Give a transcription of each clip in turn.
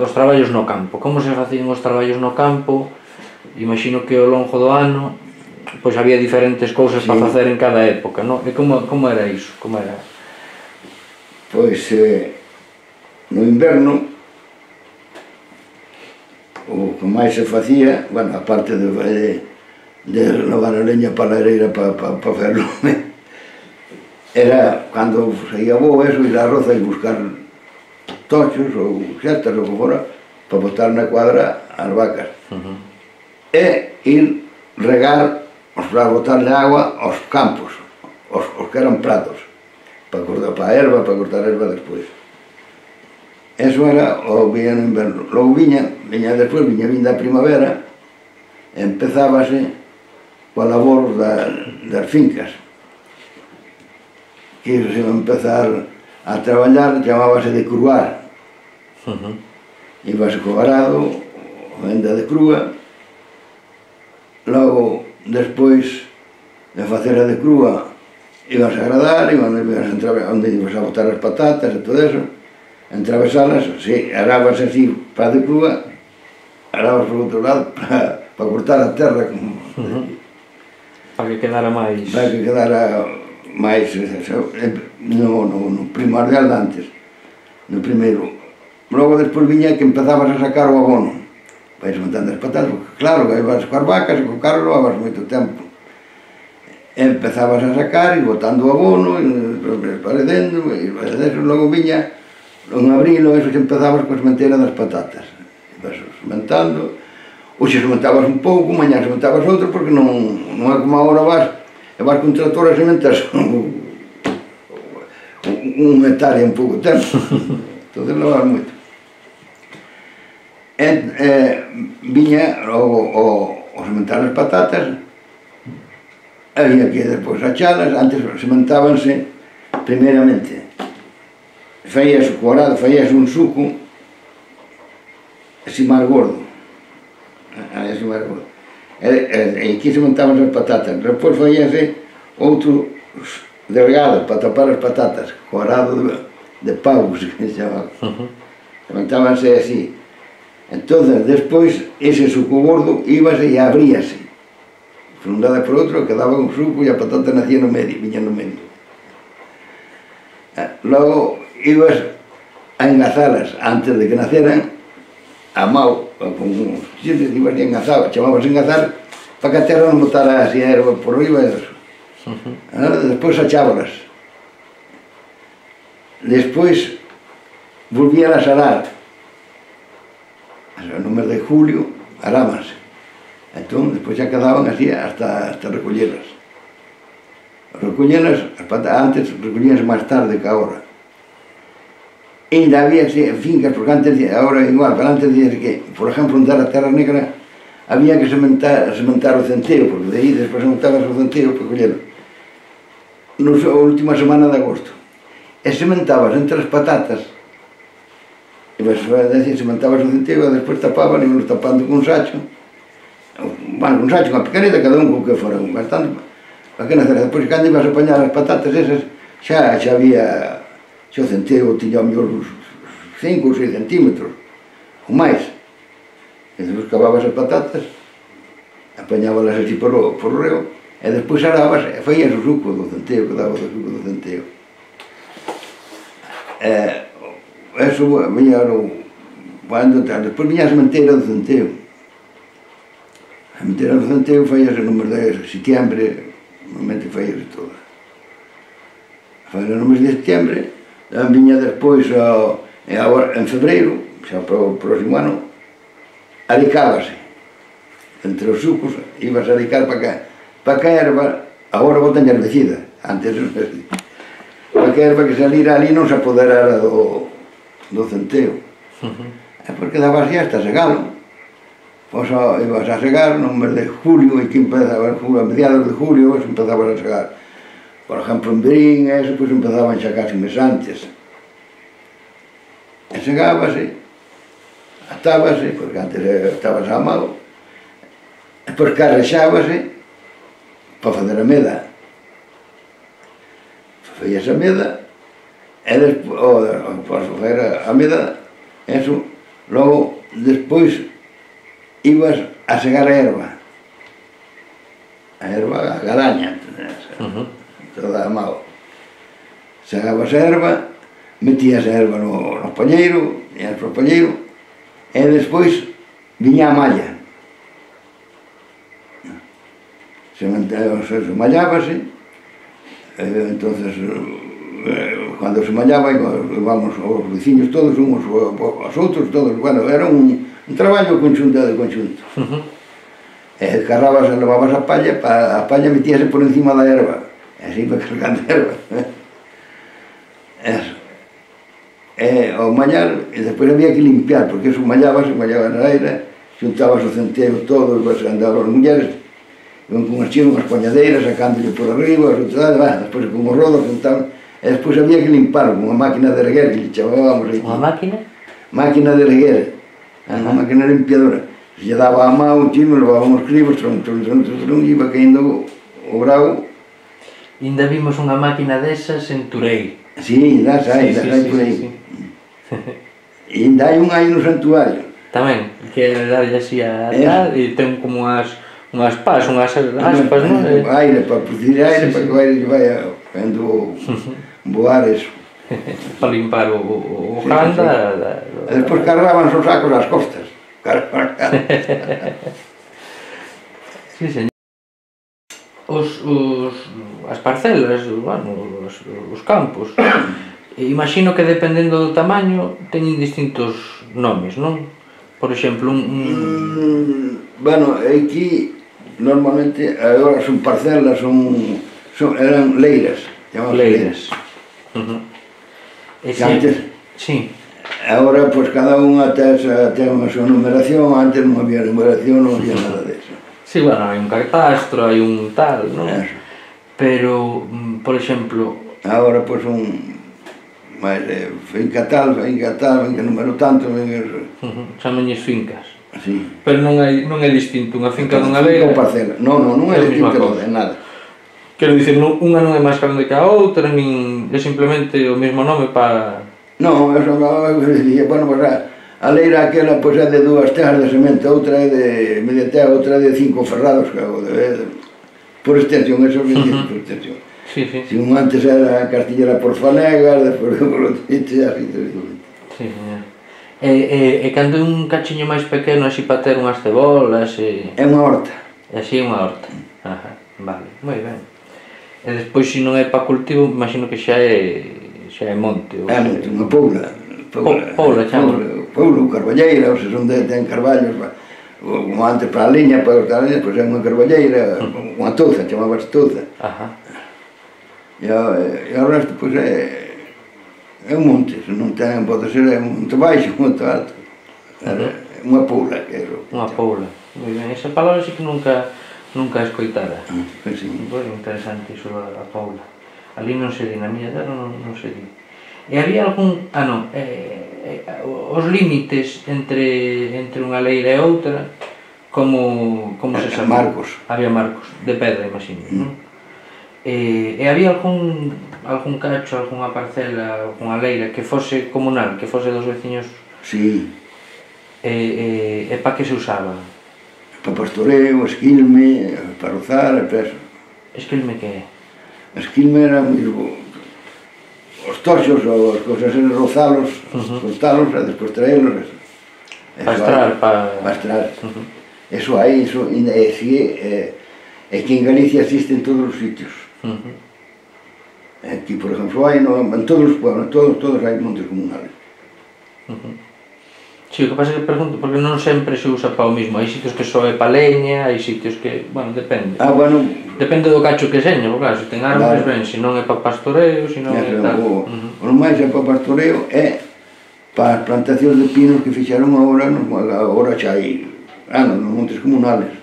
dos traballos no campo. Como se facían os traballos no campo? Imagino que ao longo do ano pois había diferentes cousas para facer en cada época, non? E como era iso? Como era? Pois no inverno o que máis se facía, bueno, aparte de levar a leña para a lareira para facer lume, era cando saía bo eso, ir á roza e buscar tochos ou xetas ou que fora para botar na cuadra as vacas e ir regar para botarle agua aos campos, os que eran pratos, para cortar a erva, para cortar a erva despois. Eso era o viña no inverno. Logo viña despois, viña a primavera, e empezábase coa labor das fincas, que se iba a empezar a traballar, chamábase de cruar. Ibase co arado, venda de crúa, logo, despois de facer a de crúa, ibas a agradar, onde ibas a botar as patatas e todo eso, entravesalas, arabas así para a de crúa, arabas por outro lado para cortar a terra, para que quedara máis... Para que quedara máis no primordial de antes, no primeiro. Logo despois viña que empezabas a sacar o abono, vais montando as patatas, porque claro, que ibas coas vacas e co carro levabas moito tempo. Empezabas a sacar e botando o abono, parecendo, e logo viña, en abril, eso que empezabas coa sementeira das patatas. Ibas sementando, hoxe sementabas un pouco, mañá sementabas outro, porque non é como agora vas con un tractor a sementas un hectárea en pouco tempo. Entón levabas moito. Viña o sementar as patatas, había que despois achalas, antes sementábanse primeiramente, faías o corado, faías un suco así máis gordo, así máis gordo, e aquí sementaban as patatas, despois faíase outro delgado para tapar as patatas, corado de pavos, que se chamaba, sementábanse así. Entonces, despois, ese suco gordo íbase e abríase, frondada por outro, quedaba un suco e a patata nacía no medio, viña no medio. Logo, ibas a engazalas, antes de que naceran, a mao, con uns xentes, ibas e engazabas, chamabas engazar, para que a terra non botara así a erva por riba e eso. Despois achábalas. Despois, volvían a salar. No mes de julio, arábanse. Entón, despois xa quedaban así hasta recollelas. Recollelas, antes recollíanse máis tarde que agora. E ainda había fincas, porque antes, agora igual, pero antes dicía que, por exemplo, onde era a terra negra, había que sementar o centeo, porque de aí despois sementabas o centeo para collelo. Na última semana de agosto. E sementabas entre as patatas, sementabas o centeo e despois tapaban, íbamos tapando con un sacho, bueno, un sacho, unha picaneta, cada un co que fora, bastante, para que nacer. Despois, cando ibas a apañar as patatas esas, xa había, xa o centeo tiña ao mellor uns 5 ou 6 centímetros, ou máis. E despois cavabas as patatas, apañábalas así por o reo, e despois arabas e faías o suco do centeo, que daba o suco do centeo. Eso viña despois viña a sementeira do centeo. A sementeira do centeo faíase no mes de setiembre, normalmente faíase toda. Faíase no mes de setiembre, viña despois, en febreiro, xa para o próximo ano, aricábase. Entre os sucos, ibas a aricar para que a erva, agora botan herbicida, antes non se dicía. Para que a erva que salira ali non se apoderara do centeo. Porque daba así hasta segalo. Ibas a segar no mes de julio, e que empezaba a mediados de julio, empezabas a segar. Por exemplo, en Berín, eso, pois empezaban xa casi mes antes. E segábase, atábase, porque antes estabas a mao, e depois carrexábase para fazer a meda. Faías a meda, e despois, para fazer a meda, eso, Logo, despois, ibas a segar a erva. A erva, a galaña, toda a mao. Segabas a erva, metías a erva no pañeiro, ias pro pañeiro, e despois viña a malla. Se mallábase, entonces, cando se mallaba, íbamos os veciños todos, uns aos outros, todos, bueno, era un traballo conxunto de conxunto. Carrabas, levabas a palla metíase por encima da erva, e así para cargando a erva. Eso. Ao mallar, e despois había que limpiar, porque eso mallaba na aire, xuntabas o centeo todo, andaban as mulleres, iban con unhas poñadeiras, sacándolle por arriba, despois con os rodos, xuntaban, e despois había que limpar con unha máquina de erguer, que lle chamábamos aquí. Unha máquina? Máquina de erguer, unha máquina limpiadora. Se lle daba a mão, chino, levábamos cribos, e iba caindo o bravo. Ainda vimos unha máquina desas en Turei. Sí, das hai por aí. E ainda hai unha aí no santuario. Tamén, que darlle así a tal, e ten como unhas pás, unhas aspas, non? Aire, para producir aire, para que o aire lle vai vendo voar eso. Para limpar o can da... E despois cargaban os sacos ás costas. Sí, señor. As parcelas, bueno, os campos, imagino que dependendo do tamaño teñen distintos nomes, non? Por exemplo, bueno, aquí normalmente agora son parcelas, eran leiras, chamaban leiras. Antes, sí. Agora, pois, cada unha ten unha súa numeración, antes non había numeración, non había nada deso. Sí, bueno, hai un catastro, hai un tal, non? Pero, por exemplo... Agora, pois, finca tal, finca número tanto... Chamanlles fincas. Sí. Pero non é distinto unha finca dunha leira... Finca ou parcela. Non é distinto de nada. Quero dicir, unha non é máis grande que a outra, nin é simplemente o mesmo nome para... Non, eso dicía, bueno, pues a leira aquela pois é de 2 teas de semente, outra é de media tea, outra é de 5 ferrados, por extensión, eso é por extensión. Sí, sí. Si un antes era castillera por fanegas, despois por outro sitio, así tradicionalmente. Sí, señor. E cando é un cachiño máis pequeno, así para ter unhas cebolas e... É unha horta. Así é unha horta. Ajá, vale, moi ben. E despois, se non é para cultivo, imagino que xa é monte. É monte, unha poula. Poula, chamo. Poula, carballeira, ou se son ten carballos, como antes para a liña, para cortar a liña, pois é unha carballeira, unha touza, chamabas touza. Ajá. E o resto, pois é un monte, se non ten, pode ser un monte baixo, un monte alto. É unha poula, que é o... Unha poula, moi ben. Esa palabra sí que nunca escoitara. Sí. Moi interesante iso da poula. Ali non se di, na miña terra non se di. E había algún... os límites entre unha leira e outra, como se sabía? Marcos. Había marcos, de pedra, imagino, non? E había algún cacho, algunha parcela, algunha leira que fose comunal, que fose dos veciños? Sí. E para que se usaba? Para pastoreo, esquilme, para rozar e peso. Esquilme que é? Esquilme era os toxos ou as cousas en rozalos, cortalos e despois traelos. Para estrar. Eso hai, eso é que en Galicia existe en todos os sitios. Aquí, por exemplo, hai en todos os pueblos, todos hai montes comunales. Si, o que pasa é que pregunto, porque non sempre se usa para o mismo. Hai sitios que só é para leña, hai sitios que, bueno, depende. Depende do cacho que seña, porque claro, se ten árboles ben, se non é para pastoreo, se non é tal. O máis é para pastoreo é para as plantacións de pinos que fixaron agora xa hai nos montes comunales.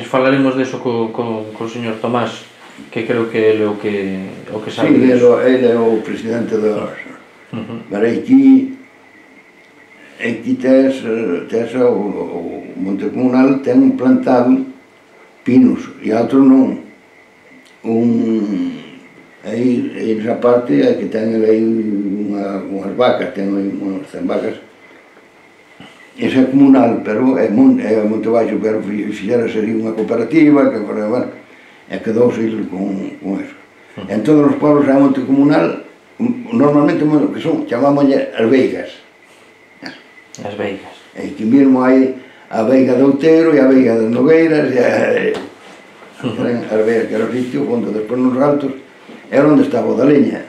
Falaremos deso co señor Tomás, que creo que ele o que sabe. Sí, ele é o presidente dos... Pero aquí tes o monte comunal ten plantado pinos e outros non. Aí nesa parte é que ten aí unhas vacas, ten aí unhas 100 vacas esa é comunal, pero é Monte Baixo, pero fixera sería unha cooperativa, que, bueno, e quedouse con eso. En todos os pueblos é monte comunal, normalmente que son, chamámoslle as veigas. As veigas. E aquí mesmo hai a veiga de Outeiro e a veiga das Nogueiras, e as veigas que era o sitio, onde despois nos altos era onde estaba o da leña.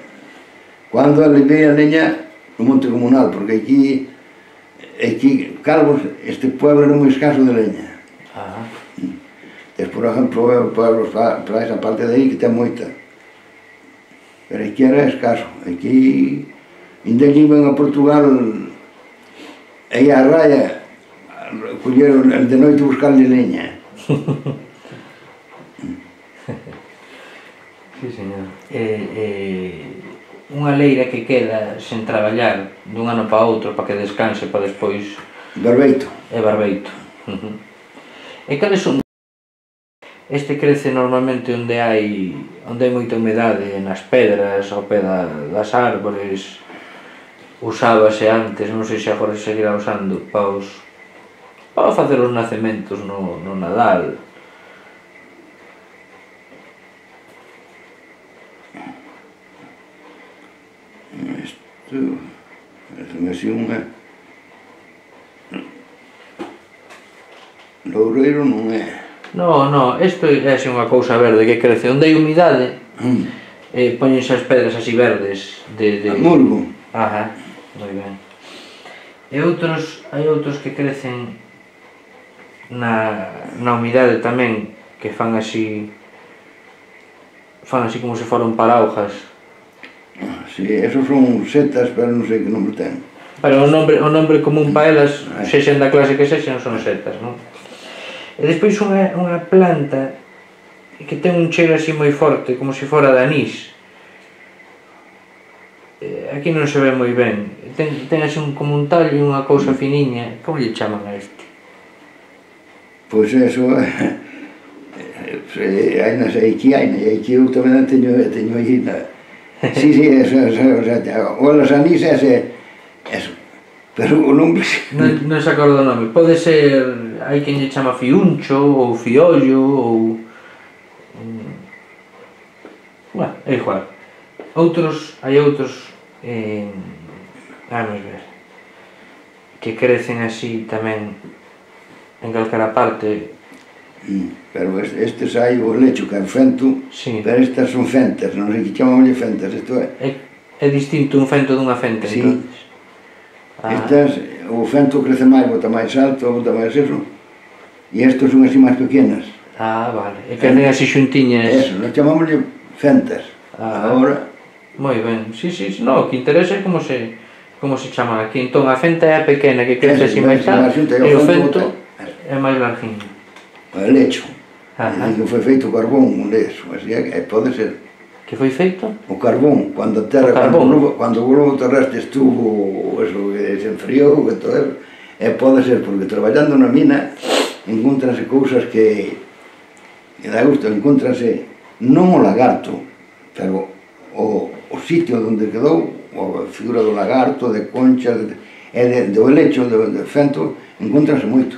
Cando levei a leña no monte comunal, porque aquí Calvos, este pueblo era moi escaso de leña. Por exemplo, pueblos para esa parte de aí que ten moita. Pero aquí era escaso. Aquí, ainda iban a Portugal, aí a raya, colleron de noite buscarle leña. Sí, señor. Unha leira que queda sen traballar dun ano para outro para que descanse para despois... Barbeito. É barbeito. E cales son? Este crece normalmente onde hai moita humedade, nas pedras, ao pé das árbores. Usábase antes, non sei se agora se seguirá usando, para facer os nacementos no Nadal. Isto é así unha... Loureiro non é. Non, isto é así unha cousa verde que crece. Onde hai humidade, poñense as pedras así verdes de... Musgo. Ajá, moi ben. E hai outros que crecen na humidade tamén, que fan así como se foran paraujas. Si, esos son setas, pero non sei que nombre ten. Pero o nombre común para elas, sexen da clase que sexen, son setas, non? E despois unha planta que ten un cheiro así moi forte, como se fora de anís. Aquí non se ve moi ben. Ten así como un tallo e unha cousa finiña. Como lle chaman a este? Pois eso... Aquí eu tamén teño aí... Sí, eso, o los anís eso, pero o nombre... Non se acorda o nome, pode ser, hai quen lle chama fiuncho, ou fiollo, ou... Bueno, é igual. Hai outros, vamos ver, que crecen así tamén en calquera parte. Pero estes hai o lecho que é fento, pero estas son fentas, non sei que chamámoslle fentas, isto é... É distinto un fento dunha fenta, entón? Estas, o fento crece máis, bota máis alto, bota máis eso, e estos son así máis pequenas. Vale, e crecen así xuntiñas... Eso, nos chamámoslle fentas, agora... Moi ben, sí, non, o que interesa é como se chama aquí. Entón, a fenta é a pequena que crece así máis alto, e o fento é máis largiño. O lecho, que foi feito o carbón, un leso, así pode ser. Que foi feito? O carbón, cando o globo terrestre estuvo, eso que se enfriou, que todo eso, pode ser, porque traballando na mina, encontrase cousas que dá gusto, encontrase non o lagarto, pero o sitio onde quedou, a figura do lagarto, de conchas, do lecho, do fento, encontrase moito.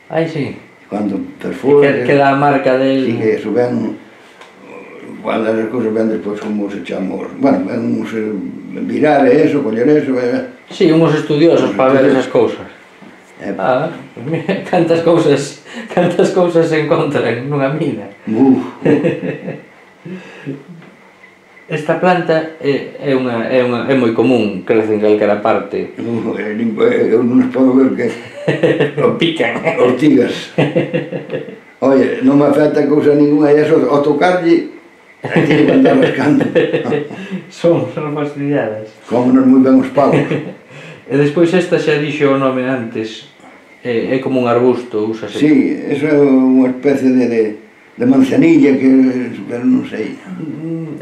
Ai, sí. Cando perfora... Que dá a marca del... Sí, que eso ven... Cando as cousas ven despois como se chama... Bueno, ven uns virar eso, coller eso... Sí, uns estudiosos para ver esas cousas. Cantas cousas se encontran nunha mina. Esta planta é moi común, crece en calquera parte. Eu non os podo ver que... O pican. Ortigas. Oye, non me afecta cousa ninguna, e eso, ao tocarlle, aquí que andar rascando. Son fastidiadas. Cómonos moi ben os pavos. E despois esta xa dixo o nome antes, é como un arbusto, úsase. Sí, eso é unha especie de manzanilla que... pero non sei.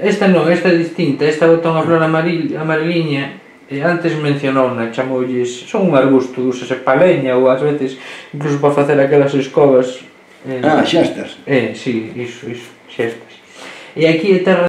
Esta non, esta é distinta, esta bota unha flor amareliña, e antes mencionouna, chamoulles, son un arbusto, úsase pa leña ou ás veces incluso para facer aquelas escobas. Xestas. Sí, iso, xestas. E aquí é terra